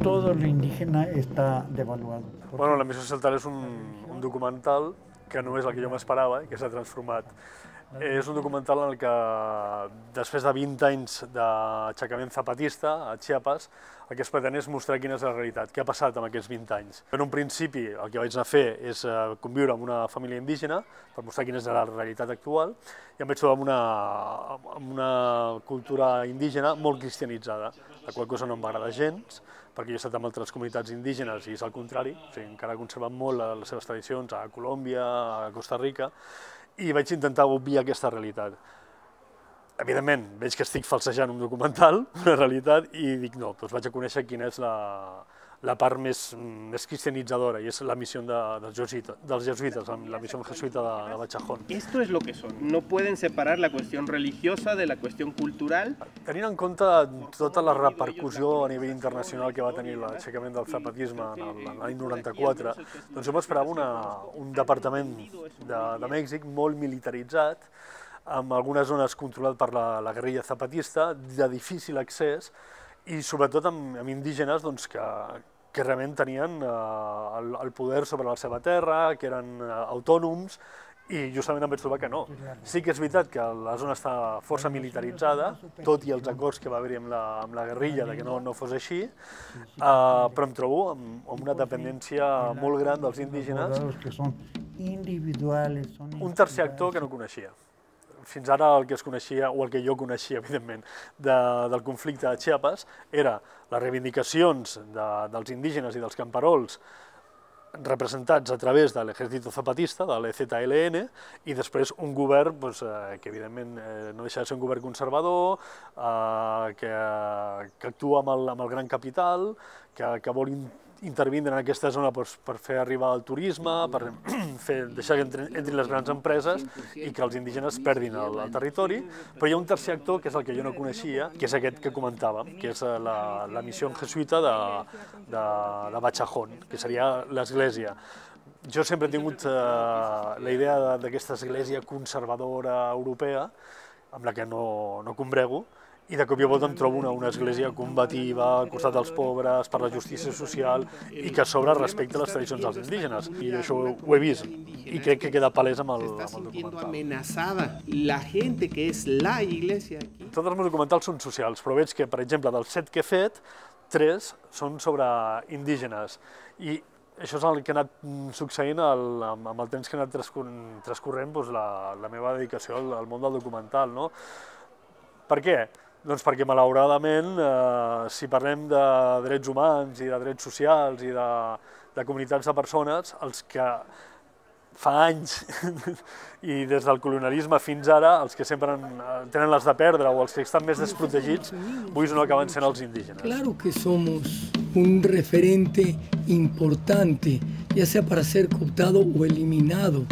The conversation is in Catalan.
todo lo indígena está devaluado. Bueno, La missió Celtal és un documental que no és el que jo m'esperava i que s'ha transformat. És un documental en el que, després de 20 anys d'aixecament zapatista a Chiapas, el que es pretén és mostrar quina és la realitat, què ha passat en aquests 20 anys. En un principi el que vaig anar a fer és conviure amb una família indígena per mostrar quina és la realitat actual i em vaig trobar amb una cultura indígena molt cristianitzada, la qual cosa no em va agradar gens, perquè jo he estat amb altres comunitats indígenes i és al contrari, o sigui, encara conserven molt les seves tradicions a Colòmbia, a Costa Rica, i vaig intentar obviar aquesta realitat. Evidentment, veig que estic falsejant un documental, una realitat, i dic no, doncs vaig a conèixer quina és la part més cristianitzadora, i és la missió dels jesuites, la missió jesuita de Bachajón. Esto es lo que son. No pueden separar la cuestión religiosa de la cuestión cultural. Tenint en compte tota la repercussió a nivell internacional que va tenir l'aixecament del zapatisme en l'any 94, doncs jo m'esperava un departament de Mèxic molt militaritzat, amb algunes zones controlades per la guerrilla zapatista, de difícil accés, i sobretot amb indígenes que realment tenien el poder sobre la seva terra, que eren autònoms, i justament em vaig trobar que no. Sí que és veritat que la zona està força militaritzada, tot i els acords que va haver-hi amb la guerrilla de que no fos així, però em trobo amb una dependència molt gran dels indígenes. Un tercer actor que no coneixia. Fins ara el que es coneixia, o el que jo coneixia, evidentment, del conflicte de Chiapas, era les reivindicacions dels indígenes i dels camperols representats a través de l'Ejército Zapatista, de l'EZLN, i després un govern que, evidentment, no deixa de ser un govern conservador, que actua amb el gran capital, que vol intervindre en aquesta zona per fer arribar el turisme, per deixar que entrin les grans empreses i que els indígenes perdin el territori. Però hi ha un tercer actor, que és el que jo no coneixia, que és aquest que comentàvem, que és la missió jesuita de Bachajón, que seria l'església. Jo sempre he tingut la idea d'aquesta església conservadora europea, amb la que no combrego, i de cop i volta em trobo una església combativa, al costat dels pobres, per la justícia social, i que a sobre respecta les tradicions dels indígenes. I això ho he vist, i crec que queda palès amb el documental. Tots els meus documentals són socials, però veig que, per exemple, dels 7 que he fet, 3 són sobre indígenes. I això és el que ha anat succeint amb el temps que ha anat transcorrent la meva dedicació al món del documental. Per què? Doncs perquè, malauradament, si parlem de drets humans i de drets socials i de comunitats de persones, els que fa anys i des del colonialisme fins ara, els que sempre tenen les de perdre o els que estan més desprotegits, avui no acaben sent els indígenes. Claro que somos un referente importante, ya sea para ser cooptado o eliminado